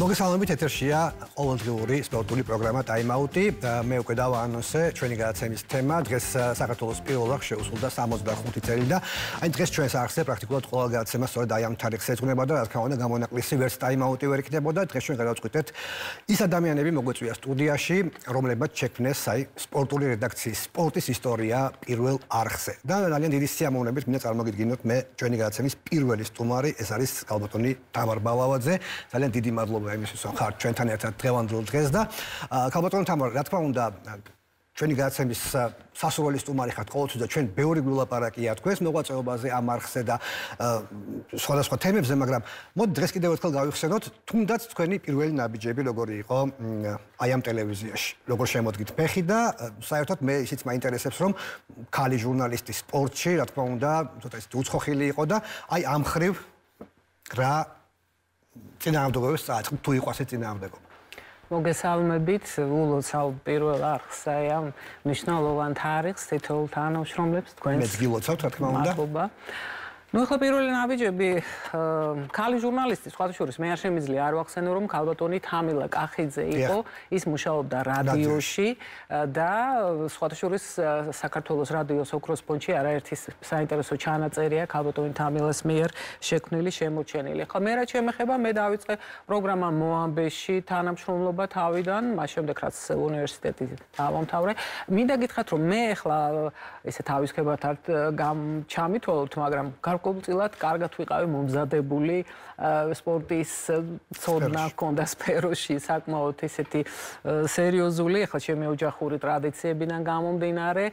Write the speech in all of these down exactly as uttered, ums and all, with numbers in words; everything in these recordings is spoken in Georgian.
მოგესალმებით, ეთერშია ყოველდღიური სპორტული პროგრამა ტაიმაუტი. მე უკვე დავაანონსე ჩვენი გადაცემის თემა. დღეს საქართველოს პირველ რიგში შეუსრულდა სამოცდახუთი წელი და აი დღეს ჩვენს არხზე პრაქტიკულად ყველა გადაცემა სწორედ აი ამ თარიღს ეძღვნება და რა თქმა უნდა გამონაკლისი ვერც ტაიმაუტი ვერ იქნებოდა. დღეს ჩვენ გადავწყვიტეთ ის ადამიანები მოგვეწვია სტუდიაში, რომლებმაც შექმნეს აი სპორტული რედაქციის სპორტის ისტორია პირველ არხზე. და ძალიან დიდი სიამოვნებით მინდა წარმოგიდგინოთ მე ჩვენი გადაცემის პირველი სტუმარი, ეს არის ალბათონი თამარ ბალავაძე. ძალიან დიდი მადლობა იმისთვის, რომ ხართ ჩვენთან ერთად დღევანდელ დღეს და ქალბატონო თამარ, რა თქმა უნდა, ჩვენი გადაცემის სასურველი სტუმარი ხართ ყოველთვის და ჩვენ ბევრი გულაპარაკია თქვენს მოღვაწეობაზე ამ არხზე და სხვადასხვა თემებზე, მაგრამ მოდი დღეს კიდევ ერთხელ გავიხსენოთ, თუნდაც თქვენი პირველი ნაბიჯები როგორი იყო აი ამ ტელევიზიაში, როგორ შემოდგით ფეხი და საერთოდ მე ისიც მაინტერესებს, რომ ქალი ჟურნალისტი სპორტში, რა თქმა უნდა, ცოტა ისეთი უცხოხილი იყო და აი ამ ხრივ რა წინააღმდეგობებს წააწყდით, თუ იყო ასე წინააღმდეგობა. მოგესალმებით, ულოცავ პირველ არხს აი ამ მნიშვნელოვან თარიღს, თითოეულ თანამშრომლებს თქვენს. მეც გილოცავთ, რა თქმა უნდა. მადლობა. Ну, ახლა პირველი ნაბიჯები ქალი ჟურნალისტი, სხვათა შორის მე არ შემიძლია არ ვახსენო, რომ ქალბატონი თამილა კახიძე იყო, ის მუშაობდა რადიოში და სხვათა შორის საქართველოს რადიოს ოქროს ფონდში არაერთი საინტერესო ჩანაწერია ქალბატონი თამილას მიერ შექმნილი, შემოჩენილი. ახლა მე რაც შემეხება, მე დავიწყე პროგრამა მოამბეში თანამშრომლობა თავიდან, მას შემდეგ რაც უნივერსიტეტი დავამთავრე. მინდა გითხრათ, რომ მე ახლა ესე თავისქებად არ ჩამითვალოთ, მაგრამ გარკვეულწილად კარგად ვიყავი მომზადებული სპორტის ცოდნა ჰქონდა სფეროში, საკმაოდ ისეთი სერიოზული, ახლა ჩემი ოჯახური ტრადიციებიდან გამომდინარე,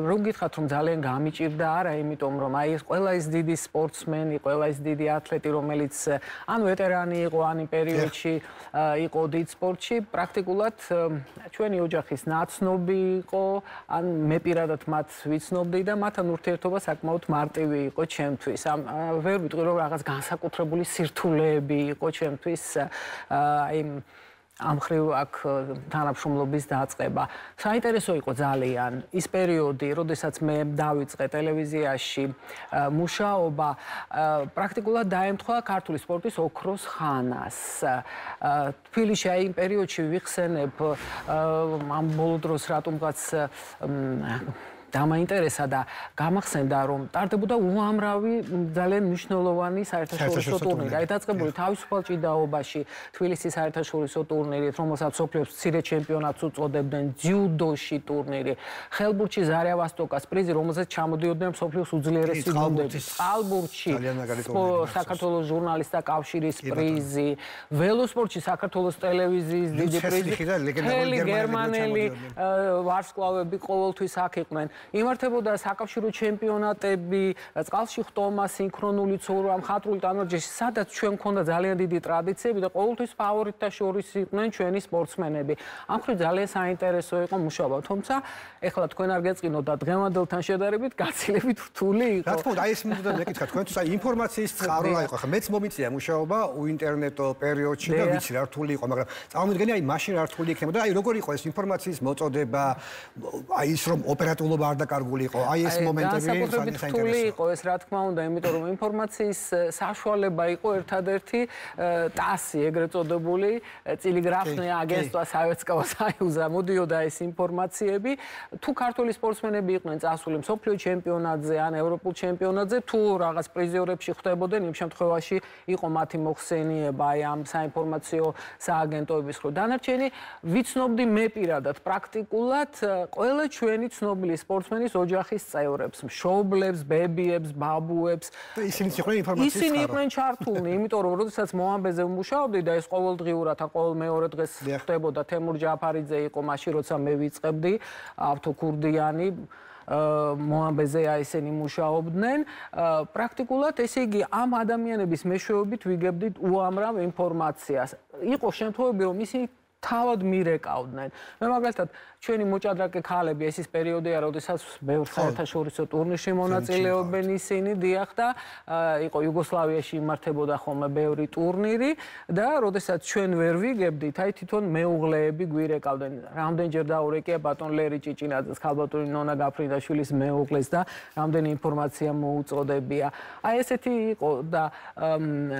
რომ გითხრათ, რომ ძალიან გამიჭირდა არა, იმიტომ რომ აი ეს ყველა ის დიდი სპორტსმენი, ყველა ის დიდი ათლეტი, რომელიც ან ვეტერანი იყო, ან იმ პერიოდში იყო დიდ სპორტში, პრაქტიკულად ჩვენი ოჯახის ნაცნობი იყო, ან მე პირადად მათ ვიცნობდი და მათთან ურთიერთობა საკმაოდ მარტივი იყო ჩემთვის. ამ ვერ ვიტყვი, რომ რაღაც განსაკუთრებული სირთულეები იყო ჩემთვის აი ამ ხრივ აქ თანამშრომლობის დაწყება. საინტერესო იყო ძალიან ის პერიოდი, როდესაც მე დავიწყე ტელევიზიაში მუშაობა, პრაქტიკულად დაემთხვა ქართული სპორტის ოქროს ხანას. თბილისში აი იმ პერიოდში ვიხსენებ ამ ბოლო დროს რატომღაც დამაინტერესა და გამახსენდა, რომ ტარდებოდა უამრავი ძალიან მნიშვნელოვანი საერთაშორისო ტურნირი. აი დაწყებული თავისუფალ ჭიდაობაში თბილისის საერთაშორისო ტურნირით, რომელსაც მსოფლიოს მცირე ჩემპიონატს უწოდებდნენ, ძიუდოში ტურნირი, ხელბურთში ზარიავასტოკას პრიზი, რომელზეც ჩამოდიოდნენ მსოფლიოს უძლიერესი გუნდები. წყალბურთში საქართველოს ჟურნალისტთა კავშირის პრიზი, ველოსპორტში საქართველოს ტელევიზიის დიდი პრიზი, მთელი გერმანელი ვარსკვლავები ყოველთვის აქ იყვნენ. იმართებოდა საკავშირო ჩემპიონატები, წყალში ხტომა, სინქრონული ცურვა, მხატვრული ტანვარჯიში, სადაც ჩვენ მქონდა ძალიან დიდი ტრადიციები და ყოველთვის ფავორიტთა შორის იყვნენ ჩვენი სპორტსმენები. ამ ხრივ ძალიან საინტერესო იყო მუშაობა, თუმცა ეხლა თქვენ არ გეწყინოთ და დღევანდელთან შედარებით გაცილებით რთული იყო. რა თქმა უნდა, აი ეს მინდა მეკითხა თქვენთვის, აი ინფორმაციის წყარო რა იყო, ხა მეც მომიწია მუშაობა უინტერნეტო პერიოდში და ვიცი რა რთული იყო, მაგრამ წარმოვიდგენი აი მაშინ რა რთული იქნებოდა, აი როგორი იყო ეს ინფორმაციის მოწოდება, აი ის რომ ოპერატულობა არ დაკარგული იყო, აი ეს მომენტები განსაკუთრებით რთული იყო ეს, რა თქმა უნდა, იმიტომ რომ ინფორმაციის საშუალება იყო ერთადერთი ტასი, ეგრეთ წოდებული ტელეგრაფნე აგენტსტვა საერთო საიუზა მოდიოდა ეს ინფორმაციები, თუ ქართული სპორტსმენები იყვნენ წასული მსოფლიო ჩემპიონატზე ან ევროპულ ჩემპიონატზე, თუ რაღაც პრიზიორებში ხვდებოდნენ, იმ შემთხვევაში იყო მათი მოხსენიება აი ამ საინფორმაციო სააგენტოების ხრით. დანარჩენი ვიცნობდი მე პირადად პრაქტიკულად ყველა ჩვენი ცნობილი სპორტსმენის ოჯახის წევრებს, მშობლებს, ბებიებს, ბაბუებს. ისინი იყვნენ ინფორმაციის წყარო. ისინი იყვნენ ჩართულნი, იმიტომ რომ როდესაც მოამბეზე ვმუშაობდი და ეს ყოველდღიურად, ყოველ მეორე დღეს ხდებოდა, თემურ ჯაფარიძე იყო მაშინ, როცა მე ვიწყებდი, ავთო ქურდიანი მოამბეზე აი ესენი მუშაობდნენ. პრაქტიკულად ესე იგი ამ ადამიანების მეშვეობით ვიგებდით უამრავ ინფორმაციას. იყო შემთხვევები, რომ ისინი თავად მირეკავდნენ. მე მაგალითად ჩვენი მოჭადრაკე ქალები ეს ის პერიოდია, როდესაც ბევრ საერთაშორისო ტურნირში მონაწილეობენ ისინი, დიახ და იყო იუგოსლავიაში იმართებოდა ხოლმე ბევრი ტურნირი და როდესაც ჩვენ ვერ ვიგებდით, აი თვითონ მეუღლეები გვირეკავდნენ. რამდენჯერ დაურეკია ბატონ ლერი ჭიჭინაძეს, ქალბატონი ნონა გაფრინდაშვილის მეუღლეს და რამდენი ინფორმაცია მოუწოდებია. აი ესეთი იყო და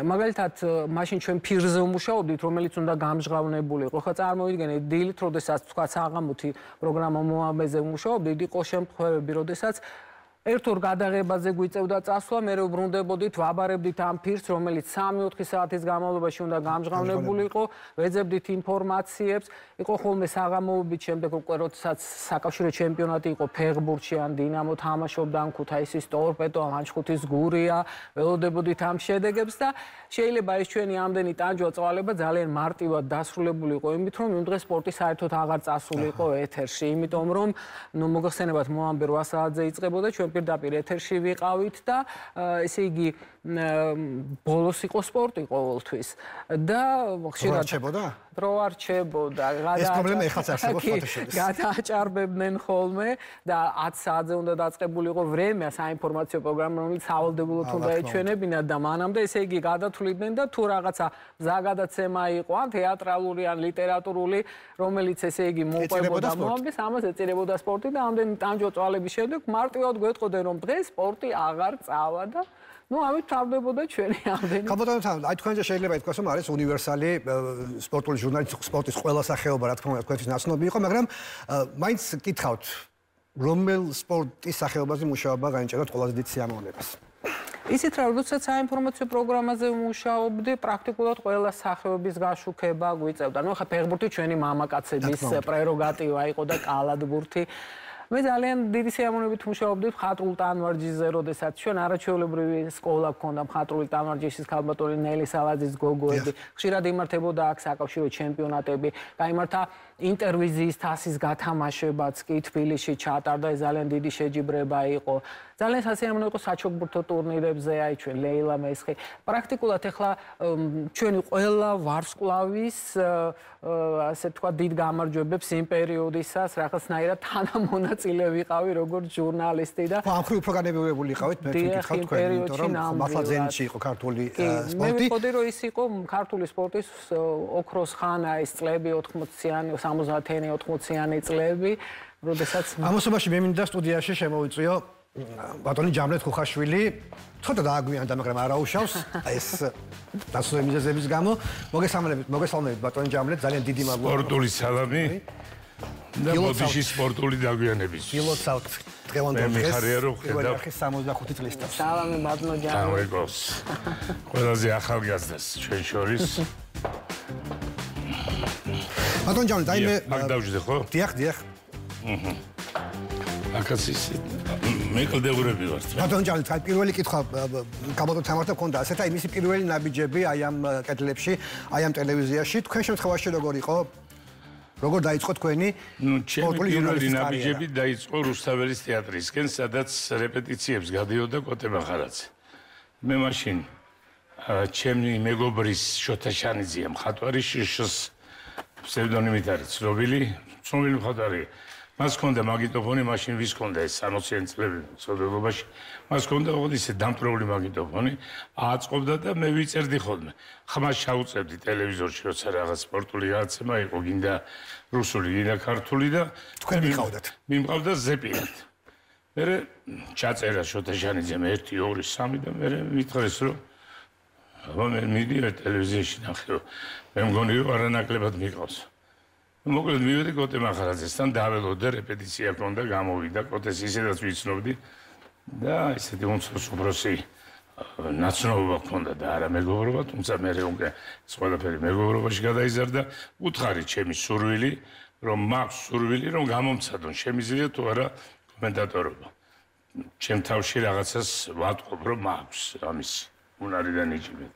მაგალითად მაშინ ჩვენ ფირზე ვმუშაობდით, რომელიც უნდა გამჟღავნებული იყო. ხო წარმოვიდგენთ დილით, როდესაც თქვა საღამოთი პროგრამა მოამეზე ვმუშაობდით, იყო შემთხვევები, როდესაც ერთ ორ გადაღებაზე გვიწევდა წასვლა, მე ვბრუნდებოდით, ვაბარებდით ამ ფირს, რომელიც სამი ოთხი საათის განმავლობაში უნდა გამჟღავნებული იყო, ვეძებდით ინფორმაციებს, იყო ხოლმე საღამოობით, შემდეგ უკვე როდესაც საკავშირო ჩემპიონატი იყო ფეხბურთში, ან დინამო თამაშობდა, ან ქუთაისის ტორპედო, ან ლანჩხუთის გურია, ველოდებოდით ამ შედეგებს და შეიძლება ეს ჩვენი ამდენი ტანჯვა წვალება ძალიან მარტივად დასრულებული იყო იმით, რომ იმ დღეს სპორტი საერთოდ აღარ წასულიყო ეთერში, იმიტომ რომ ნუ მოგახსენებათ მოამბე რვა საათზე იწყებოდა, ჩვენ პირდაპირ ეთერში ვიყავით და ესე იგი ბოლოს იყო სპორტი ყოველთვის და ხშირად რჩებოდა? დრო არ რჩებოდა. ეს პრობლემა ეხლაც არსებობს ფოტოშოპში. გადააჭარბებდნენ ხოლმე და ათი საათზე უნდა დაწყებულიყო ვრემია საინფორმაციო პროგრამა, რომელიც სავალდებულოდ უნდა ეჩვენებინათ და მანამდე ესე იგი გადათვლიდნენ და თუ რაღაცა მზაგადაცემა იყო, ან თეატრალური, ან ლიტერატურული, რომელიც ესე იგი მოყვებოდა მოამბეს, ამას ეწირებოდა სპორტი და ამდენი ტანჯვა წვალების შემდეგ მარტივად გვეტყოდნენ, რომ დღეს სპორტი აღარ წავა და ну, ამით თავდებოდა ჩვენი ამდენი. ქალბატონო, აი თქვენ შეიძლება ითქვას, რომ არის უნივერსალი სპორტული ჟურნალისტი, სპორტის ყველა სახეობა, რა თქმა უნდა, თქვენთვის ნაცნობი იყო, მაგრამ მაინც გითხავთ, რომელ სპორტის სახეობაზე მუშაობა გაინჭიროთ ყველაზე დიდ სიამოვნებას? ისეთ რა, როდესაც საინფორმაციო პროგრამაზე ვმუშაობდი, პრაქტიკულად ყველა სახეობის გაშუქება გვიწევდა. ну, ხა ფეხბურთი ჩვენი მამაკაცების პრეროგატივა იყო და კალათბურთი. მე ძალიან დიდი სიამოვნებით ვმუშაობდი მხატვრულ ტანვარჯიშზე, როდესაც ჩვენ არაჩვეულებრივი სკოლა გქონდა მხატვრული ტანვარჯიშის ქალბატონი ნელი სალაძის გოგოები. ხშირად იმართებოდა აქ საკავშირო ჩემპიონატები, გაიმართა ინტერვიზიის თასის გათამაშებაც კი თბილისში ჩატარდა, ეს ძალიან დიდი შეჯიბრება იყო. ძალიან სასიამოვნო იყო საჩოგბურთო ტურნირებზე, აი ჩვენ ლეილა მესხი. პრაქტიკულად ახლა ჩვენი ყველა ვარსკვლავის ასე თქვა დიდ გამარჯვებებს იმ პერიოდისას რაღაცნაირად თანამონაწილე ვიყავი როგორც ჟურნალისტი და ამ ხრივ უფრო განებივრებული იყავით, მე ვკითხავ თქვენ, იმიტომ რომ მართლა ძენში იყო ქართული სპორტი. მე ვიტყოდი რომ ის იყო ქართული სპორტის ოქროს ხანა, ის წლები ოთხმოციანი, სამოციანი, ოთხმოციანი წლები, როდესაც ამასობაში მე მინდა სტუდიაში შემოვიწვიო ბატონი ჯამლეთ ხუხაშვილი, ცოტა დააგვიანდა, მაგრამ არაუშავს ეს დასწრებული მიზეზების გამო. მოგესალმებით, მოგესალმებით ბატონი ჯამლეთ, ძალიან დიდი მადლობა. სპორტული სალამი და ბოდიში სპორტული დაგვიანების. გილოცავთ დღევანდელ დღეს. მე მიხარია რომ ხედავ სამოცდახუთი წლის თავს. სალამი ბატონო ჯამლეთ. გამიგოს. ყველაზე ახალგაზრდას ჩვენ შორის. ბატონი ჯამლეთ, აი მე აქ დავждე ხო? დიახ, დიახ. აჰა. აკაცის მე კლდეურები ვართ. ბატონი ჯამლეთ, აი პირველი კითხვა გაბატონ თამართა მქონდა ასეთ, აი მისი პირველი ნაბიჯები აი ამ კედლებში, აი ამ ტელევიზიაში, თქვენ შემთხვევაში როგორ იყო? როგორ დაიწყო თქვენი სპორტული ჟურნალისტის ნაბიჯები დაიწყო რუსთაველის თეატრისკენ, სადაც რეპეტიციებს გადიოდა კოტე მახარაძე. მე მაშინ ჩემი მეგობრის შოთა შანიძია მხატვარი შიშს ფსევდონიმით არის ცნობილი, ცნობილი მხატვარი. მას ჰქონდა მაგიტოფონი, მაშინ ვის ჰქონდა ეს სამოციანი წლები სოციალობაში. მას ჰქონდა ოღონდ ისე დამტრეული მაგიტოფონი, ააწყობდა და მე ვიწერდი ხოლმე. ხმას ჩაუწევდი ტელევიზორში, როცა რაღაც სპორტული გადაცემა იყო, გინდა რუსული, გინდა ქართული და თქვენ მიყავდათ. მიმყავდა ზეპირად. მე ჩაწერა შოთა შანიძემ ერთი, ორი, სამი და მე მითხრეს რომ აბა მე მიდივარ ტელევიზიაში ნახე, მე მგონი რომ არანაკლებად მიყავს. მოკლედ მივედი კოტე მახარაძესთან, დაველოდე, რეპეტიცია ჰქონდა, გამოვიდა, კოტეს ისედაც ვიცნობდი და ისეთი უმცროს უბროსი ნაცნობობა ჰქონდა და არა მეგობრობა, თუმცა მე უკვე ყველაფერი მეგობრობაში გადაიზარდა. უთხარი ჩემი სურვილი, რომ მაქვს სურვილი, რომ გამომცადონ, შემიძლია თუ არა კომენტატორობა. ჩემ თავში რაღაცას ვატყობ, რომ მაქვს ამის უნარიდან იჭმეთ.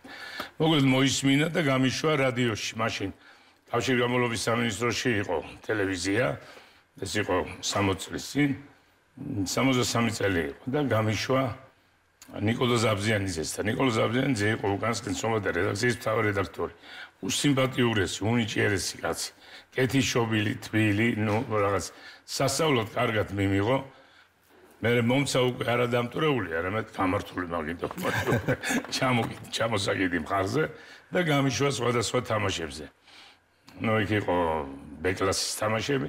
მოკლედ მოისმინა და გამიშვა რადიოში, მაშინ კავშირგამოლობის სამინისტროში იყო ტელევიზია, ეს იყო სამოცი წლის წინ, სამოცდასამი წელი იყო და გამიშვა ნიკოლოზ აბზიანიძეს და ნიკოლოზ აბზიანიძე იყო უკანასკენ სომხეთის რედაქციის მთავარი რედაქტორი. უსიმპათიურესი, უნიჭიერესი კაცი. კეთილშობილი, თბილი, ნუ რაღაც სასწაულად კარგად მიმიღო. მე მომცა უკვე არა დამტვრეული, არამედ გამართული მაგითო. ჩამოსაგიდი მხარზე და გამიშვა სხვადასხვა თამაშებზე. ნუ იქ იყო ბ-კლასის თამაშები,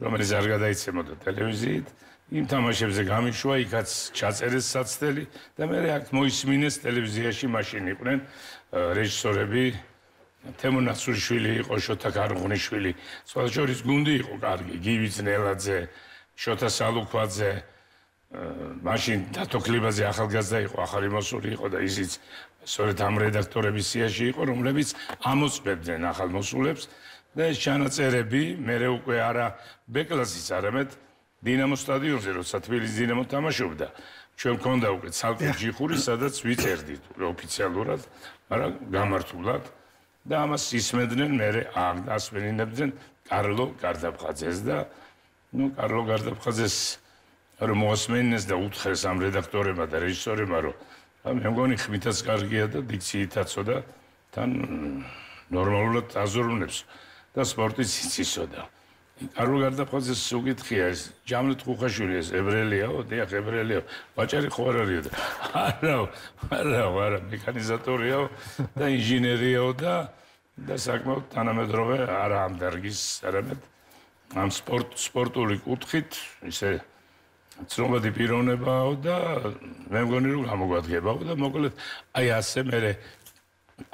რომელიც არ გადაიცემოდა ტელევიზიით. იმ თამაშებზე გამიშვა, იქაც ჩაწერეს საცდელი და მე აქ მოისმინეს ტელევიზიაში მაშინ იყვნენ რეჟისორები თემო ნაცურიშვილი იყო, შოთა ქარღუნიშვილი, სხვა შორის გუნდი იყო კარგი, გივი ძნელაძე, შოთა სალუქვაძე, მაშინ დათო ქლიბაძე ახალგაზრდა იყო, ახალი მოსული იყო და ისიც სწორედ ამ რედაქტორების სიაში იყო, რომლებიც ამოწმებდნენ ახალ მოსულებს და ეს ჩანაწერები მე უკვე არა ბ-კლასის, არამედ დინამო სტადიონზე, როცა თბილისის დინამო თამაშობდა, ჩვენ მქონდა უკვე ცალკე ჯიხური, სადაც ვიწერდით ოფიციალურად, მაგრამ გამართულად და ამას ისმენდნენ მე ასმენინებდნენ კარლო გარდაფხაძეს და ნუ კარლო გარდაფხაძეს რომ მოასმენინეს და უთხრეს ამ რედაქტორებმა და რეჟისორებმა რომ მე მგონი ხმითაც კარგია და დიქციითაცო და თან ნორმალურად აზროვნებს და სპორტიც იცისოდა. კარლო გარდაფხაძეს უკითხია ეს ჯამლეთ ხუხაშვილი ეს ებრაელიაო, დიახ ებრაელიაო, ვაჭარი ხო არ არისო და არა, არა, არა, მექანიზატორიაო და ინჟინერიაო და და საკმაოდ თანამედროვე არა ამ დარგის, არამედ ამ სპორტ სპორტული კუთხით ისე ცნობადი პიროვნებაა და მე მგონი რომ გამოგვადგებაო და მოკლედ აი ასე მე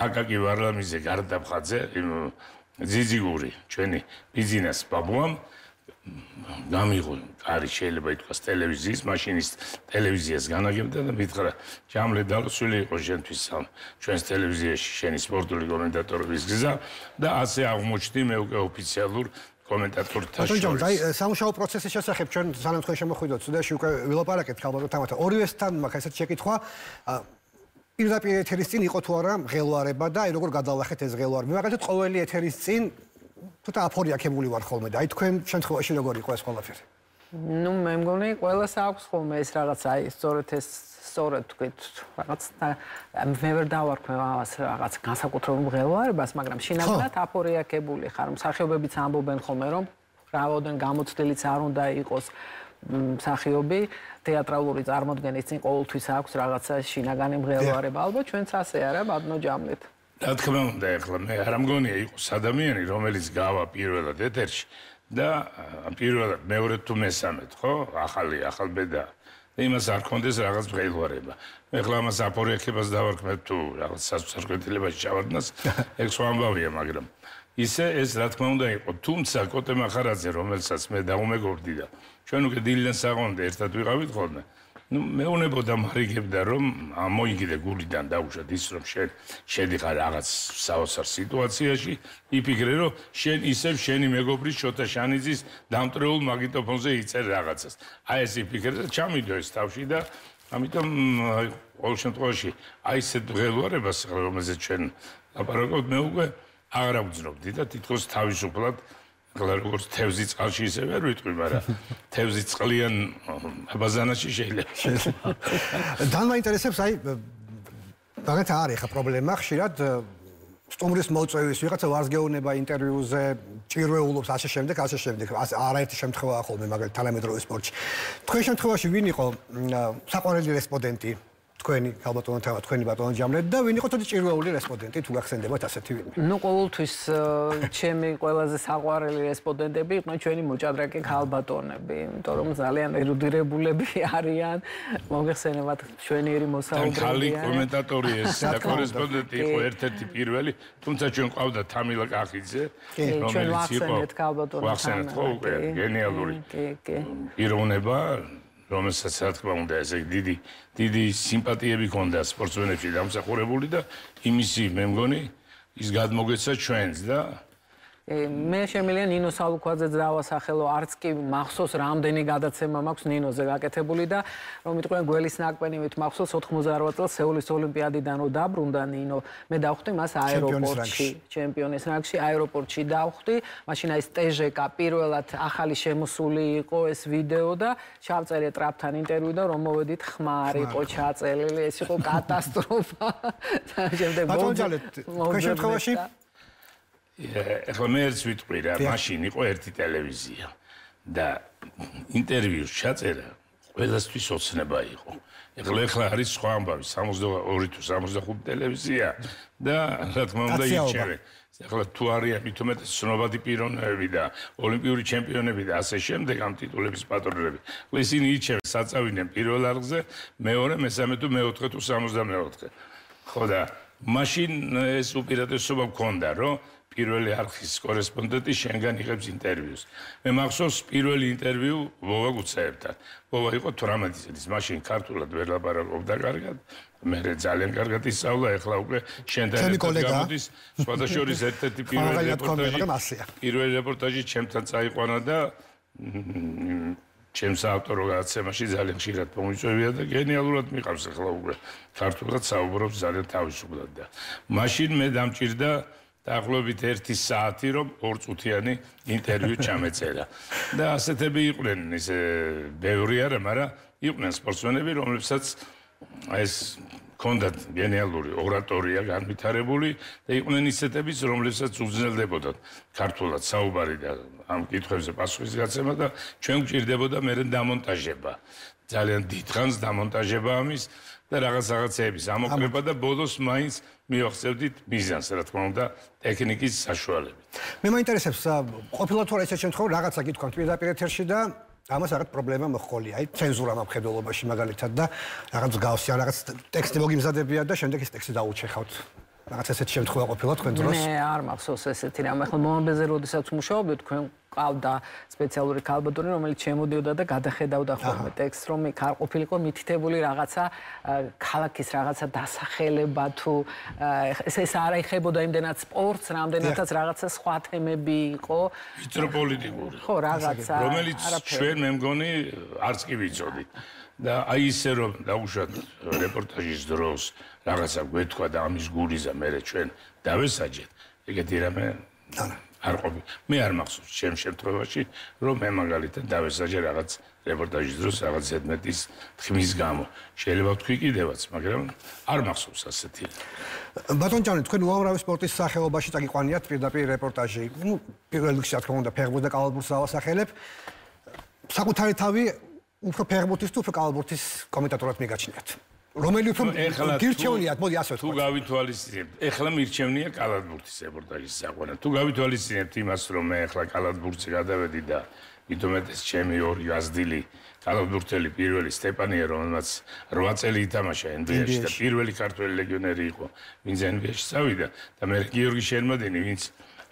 აკაკი ვარლამიძე გარდაფხაძე ძიძიგური ჩვენი ბიზნეს ბაბუამ გამიღო კარი შეიძლება ითქვას ტელევიზიის მაშინის ტელევიზიას განაგებდა და მითხრა ჯამლე დალოცვილი იყო შენთვის ჩვენს ტელევიზიაში შენი სპორტული კომენტატორების გზა და ასე აღმოჩნდი მე უკვე ოფიციალურ კომენტატორთა შორის. აი სამუშაო პროცესის შესახებ ჩვენ სანამ თქვენ შემოხვიდოთ სტუდიაში უკვე ვილაპარაკეთ ალბათ თამათა ორივესთან მაქვს ესეთ შეკითხვა პირდაპირ ეთერის წინ იყო თუ არა მღელვარება და აი როგორ გადავახეთ ეს მღელვარება. მაგალითად ყოველი ეთერის წინ თუთა აფორიაქებული ვარ ხოლმე და აი თქვენ შემთხვევაში როგორ იყო ეს ყველაფერი? ნუ მე მგონი ყველას აქვს ხოლმე ეს რაღაც აი სწორედ ეს სწორედ თქვით რაღაც მე ვერ დავარქვე ამას რაღაც განსაკუთრებულ მღელვარებას, მაგრამ შინაგანად აფორიაქებული ხარ. მსახიობებიც ამბობენ ხოლმე რომ რავოდენ გამოცდილიც არ უნდა იყოს მსახიობი თეატრალური წარმოდგენის წინ ყოველთვის აქვს რაღაცა შინაგანი მღელვარება. ალბათ ჩვენც ასე არა, ბატონო ჯამლეთ. რა თქმა უნდა, ეხლა მე არ მგონია იყოს ადამიანი, რომელიც გავა პირველად ეთერში და პირველად მეორე თუ მესამედ, ხო? ახალი ახალბედა. იმას არ კონდეს რაღაც მღელვარება. ეხლა ამას აფორიაქებას დავარქმევ თუ რაღაც სასწორკეთილებაში ჩავარდნას, ეგ სხვა ამბავია, მაგრამ ისე ეს რა თქმა უნდა იყო, თუმცა კოტე მახარაძე, რომელსაც მე დაუმეგობრდი და ჩვენ უკვე დილიდან საყონდე ერთად ვიყავით ხოლმე. ნუ მეუნებოდა მარიგებდა რომ მოიგიდე გულიდან დაუშვათ ის რომ შენ შედიხარ რაღაც საოცარ სიტუაციაში, იფიქრე რომ შენ ისევ შენი მეგობრის შოთა შანიძის დამტრეულ მაგნიტოფონზე იწერ რაღაცას. აი ეს იფიქრე და ჩამიდო ეს თავში და ამიტომ ყოველ შემთხვევაში აი ესეთ მღელვარებას რომელზეც ჩვენ ლაპარაკობთ მე უკვე აღარ აღვძნობდი და თითქოს თავისუფლად ახლა როგორც თევზი წყალში ისე ვერ ვიტყვი, მაგრამ თევზი წყლიან აბაზანაში შეიძლება. თან მაინტერესებს აი მაგათ არის ხა პრობლემა ხშირად სტუმრის მოწვევის ვიღაცა ვარსგეუნება ინტერვიუზე ჭირვეულობს ასე შემდეგ, ასე შემდეგ. არაერთი შემთხვევაა ხოლმე მაგალითად თანამედროვე სპორტში. თქვენ შემთხვევაში ვინ იყო საყვარელი რესპონდენტი? თქვენი ალბათონ თავა თქვენი ბატონო ჯამლეთ და ვინ იყო თვითონ ჭირვეული რესპონდენტი თუ გახსენდებათ ასეთი ვინმე? ნუ ყოველთვის ჩემი ყველაზე საყვარელი რესპონდენტები იყვნენ ჩვენი მოჭადრაკე ქალბატონები, იმიტომ რომ ძალიან ერუდირებულები არიან, მოგეხსენებათ ჩვენიერი მოსაუბრებია. ხალი კომენტატორი ეს და კორესპონდენტი იყო ერთ-ერთი პირველი, თუმცა ჩვენ ყავდა თამილა კახიძე, რომელიც იყო ვახსენეთ ხო უკვე გენიალური პიროვნება. რომელსაც რა თქმა უნდა ესე დიდი დიდი სიმპათიები ჰქონდა სპორტსმენებში დამსახურებული და იმისი მე მგონი ის გადმოგეცა ჩვენს და მე შემიძლია ნინო სალუქვაძეც დავასახელო, არც კი მახსოვს რამდენი გადაცემა მაქვს ნინოზე გაკეთებული და რომ იტყვიან გველის ნაკბენივით მახსოვს ოთხმოცდაარვა წელს სეულის ოლიმპიადიდან რო დაბრუნდა ნინო, მე დავხვდი მას აეროპორტში, ჩემპიონის რანგში აეროპორტში დავხვდი, მაშინ აი სტეჟეკა პირველად ახალი შემოსული იყო ეს ვიდეო და ჩავწერე ტრაპთან ინტერვიუ და რომ მოვედით ხმარ იყო ჩაწელილი, ეს იყო კატასტროფა. შემდეგ შემთხვევაში ეხლა მე ერთს ვიტყვი რა, მაშინ იყო ერთი ტელევიზია და ინტერვიუს ჩაწერა ყველასთვის ოცნება იყო. ეხლა ეხლა არის სხვა ამბავი, სამოცდაორი თუ სამოცდახუთი ტელევიზია და რა თქმა უნდა იჩერე. ეხლა თუ არიან მით უმეტეს ცნობადი პიროვნებები და ოლიმპიური ჩემპიონები და ასე შემდეგ ამ ტიტულების პატრონები. ისინი იჩერენ საწავინენ პირველ არხზე, მეორე, მესამე თუ მეოთხე თუ სამოცდამეოთხე. ხო და მაშინ ეს უპირატესობა მქონდა, რომ პირველი არხის კორესპონდენტი შენგან იღებს ინტერვიუს. მე მახსოვს პირველი ინტერვიუ ვოვა გუცაებთან. ვოვა იყო თვრამეტი წლის, მაშინ ქართულად ვერ ლაპარაკობდა კარგად. მე ძალიან კარგად ისწავლა, ეხლა უკვე შენთან გამოდის. სხვადასხვა ერთ-ერთი პირველი რეპორტაჟი. პირველი რეპორტაჟი ჩემთან წაიყვანა და ჩემს ავტორო გადაცემაში ძალიან ხშირად მომიწევია და გენიალურად მიყავს ახლა უკვე ქართულად საუბრობს ძალიან თავისუფლად და მაშინ მე დამჭირდა დაახლოებით ერთი საათი რომ ორწუთიანი ინტერვიუ ჩამეწერა და ასეთები იყვნენ ისე ბევრი არა, მაგრამ იყვნენ სპორტსმენები რომლებსაც ეს ქონდათ გენიალური ორატორია განვითარებული და იყვნენ ისეთებიც რომლებსაც უძნელდებოდათ ქართულად საუბარი და ამ კითხვებზე პასუხის გაცემა და ჩვენ გვჭირდებოდა მერე დამონტაჟება ძალიან დიდხანს დამონტაჟება ამის და რაღაც რაღაცეების ამოკრება და ბოლოს მაინც მივახსევდით მიზანს რა თქმა უნდა ტექნიკის საშუალებით. მე მაინტერესებს ყოფილა თუ არა ისეთ შემთხვევაში რაღაცა გითქვამთ პირდაპირ ეთერში და ამას რაღაც პრობლემა მოხოლია, აი ცენზურა მხედველობაში მაგალითად და რაღაც გავსი ან რაღაც ტექსტი მოგიმზადებია და შემდეგ ეს ტექსტი დაუჩეხავთ. რაღაც ესეთი შემთხვევა ყოფილა თქვენ დროს? მე არ მახსოვს ესეთი რამ. ახლა მომაბეზე როდესაც მუშაობდი თქვენ ყავდა სპეციალური ქალბატონი, რომელიც შემოდიოდა და გადახედავდა ხოლმე ტექსტს, რომ იქ არ ყოფილიყო მითითებული რაღაცა ქალაქის რაღაცა დასახელება თუ ეს ეს არ აიხებოდა იმდენად სპორტს, რამდენადაც რაღაცა სხვა თემები იყო. მიტროპოლიტიკური. ხო, რაღაცა. რომელიც ჩვენ მე მგონი არც კი ვიცოდით. და აი ისე რომ დაუშვათ რეპორტაჟის დროს რაღაცა გვეთქვა და ამის გულიზა მე ჩვენ დავესაჯეთ. ეგეთი რამე არ ყოფი. მე არ მახსოვს ჩემ შემთხვევაში რომ მე მაგალითად დავესაჯე რაღაც რეპორტაჟის დროს რაღაც ზედმეტის თქმის გამო. შეიძლება ვთქვი კიდევაც, მაგრამ არ მახსოვს ასეთი. ბატონ ჭავჭავაძე, თქვენ უამრავი სპორტის სახეობაში წაგიყვანიათ პირდაპირ რეპორტაჟი. ნუ პირველ რიგში რა თქმა უნდა ფეხბურთს და კალათბურთს დავასახელებ. საკუთარი თავი უფრო ფეხბურთის თუ უფრო კალათბურთის კომენტატორად მიგაჩნიათ. რომელი უფრო გირჩევნიათ, მოდი ასე ვთქვათ. თუ გავითვალისწინებთ, ეხლა მირჩევნია კალათბურთის რეპორტაჟის საყვანა. თუ გავითვალისწინებთ იმას, რომ მე ეხლა კალათბურთზე გადავედი და მithumetes ჩემი ორი გაზრდილი კალათბურთელი პირველი სტეპანია, რომელმაც რვა წელი ითამაშა ენ ბი ეში და პირველი ქართველი ლეგიონერი იყო, ვინც ენ ბი ეში წავიდა და მე გიორგი შერმადინი, ვინც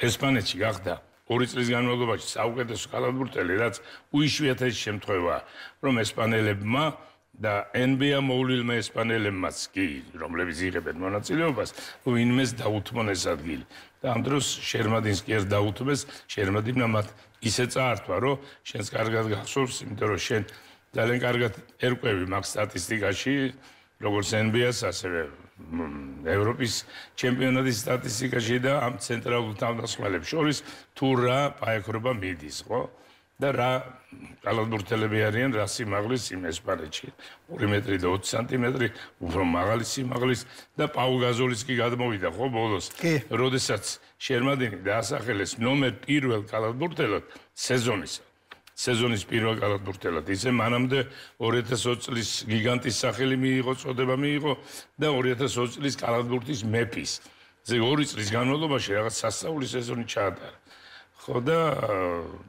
ესპანეთში გახდა ორი წლის განმავლობაში საუკეთესო კალათბურთელი, რაც უიშვიათესი შემთხვევაა, რომ ესპანელებმა და ენ ბი ე მოვლილმა ესპანელებმაც კი, რომლებიც იღებენ მონაწილეობას, ვინმეს დაუთმონ ეს ადგილი. და ამ დროს შერმადინს კი არ დაუთმეს, შერმადინმა მათ ისე წაართვა, რომ შენს კარგად გახსოვს, იმიტომ რომ შენ ძალიან კარგად ერკვევი მაგ სტატისტიკაში, როგორც ენ ბი ეს, ასევე ევროპის ჩემპიონატის სტატისტიკაში და ამ ცენტრალურ თავდასხმელებს შორის თუ რა პაექრობა მიდის, ხო? და რა კალათბურთელები არიან, რა სიმაღლის იმ ესპანეთში. ორი მეტრი და ოცი სანტიმეტრი, უფრო მაღალი სიმაღლის და პაუ გაზოლიც კი გადმოვიდა, ხო, ბოლოს. როდესაც შერმადინი დაასახელეს ნომერ პირველ კალათბურთელად სეზონისა. სეზონის პირველ კალათბურთელად. ისე მანამდე ორი ათას ოცი წლის გიგანტის სახელი მიიღო, წოდება მიიღო და ორი ათას ოცი წლის კალათბურთის მეფის. ესე ორი წლის განმავლობაში რაღაც სასწაული სეზონი ჩაატარა. ხო და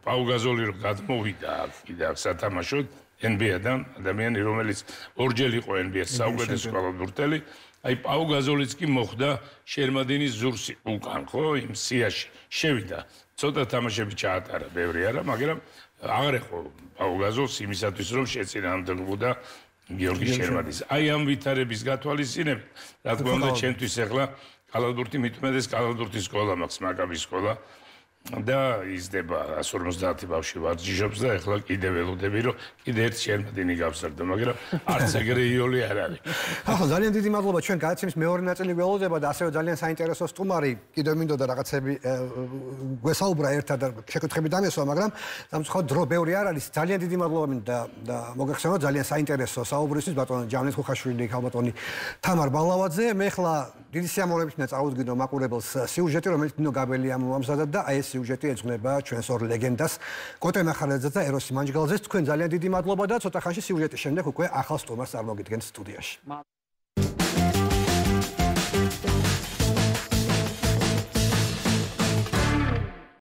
პაუ გაზოლი რო გადმოვიდა კიდე აქ სათამაშოდ ენ ბი ე-დან ადამიანი რომელიც ორჯერ იყო ენ ბი ე-ს საუკეთესო კალათბურთელი, აი პაუ გაზოლიც კი მოხვდა შერმადინის ზურსი უკან, ხო, იმ სიაში შევიდა. ცოტა თამაშები ჩაატარა, ბევრი არა, მაგრამ აღარ ეხო პაუ გაზოლს იმისათვის რომ შეწინააღმდეგებოდა გიორგი შერმადინს. აი ამ ვითარების გათვალისწინებით, რა თქმა უნდა, ჩემთვის ახლა კალათბურთი მithumetes კალათბურთის სკოლა მაქვს, მაკაბის სკოლა. და იზრდება εκατს ორმოცდაათი ბავშვი ვარჯიშობს და ეხლა კიდე ველოდები რომ კიდე ერთ შერმადინი გავსარდო, მაგრამ არც ეგრე იოლი არ არის. ახლა ძალიან დიდი მადლობა ჩვენ გადაცემის მეორე ნაწილი ველოდება და ასევე ძალიან საინტერესო სტუმარი კიდევ მინდოდა რაღაცები გვესაუბრა ერთად და შეკითხები დამესვა, მაგრამ სამწუხაროდ დრო ბევრი არ არის. ძალიან დიდი მადლობა მინდა და მოგეხსენოთ ძალიან საინტერესო საუბრისთვის ბატონო ჯანეთ ხუხაშვილი, ქალბატონი თამარ ბალავაძე. მე ახლა დიდი სიამოვნებით მინდა წავუდგინო მაყურებელს სიუჟეტი, რომელიც ნინო გაბელია მომამზადდა და აი ეს სიუჟეტი ეძღვნება ჩვენს ორ ლეგენდას კოტე მახარაძეს და ეროსი მანჯგალაძეს. თქვენ ძალიან დიდი მადლობა და ცოტა ხანში სიუჟეტის შემდეგ უკვე ახალ სტუმარს წარმოგიდგენთ სტუდიაში.